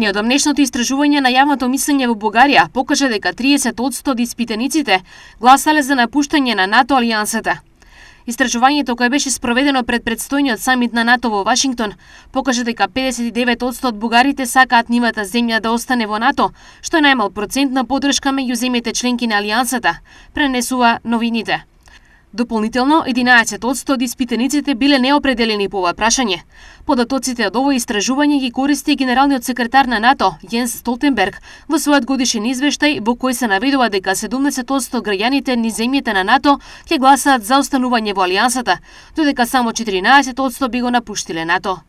Неодамнешното истражување на јавното мислење во Бугарија покажа дека 30% од испитаниците гласале за напуштање на НАТО алијансата. Истражувањето кое беше спроведено пред предстојниот самит на НАТО во Вашингтон покажа дека 59% од бугарите сакаат нивната земја да остане во НАТО, што е најмал процент на поддршка меѓу земјите членки на алијансата, пренесува новините. Дополнително, 11% од испитаниците биле неопределени по ова прашање. Податоците од ово истражување ги користи генералниот секретар на НАТО, Јенс Столтенберг, во својот годишен извештај во кој се наведува дека 70% граѓаните низ земјите на НАТО ќе гласаат за останување во алијансата, додека само 14% би го напуштиле НАТО.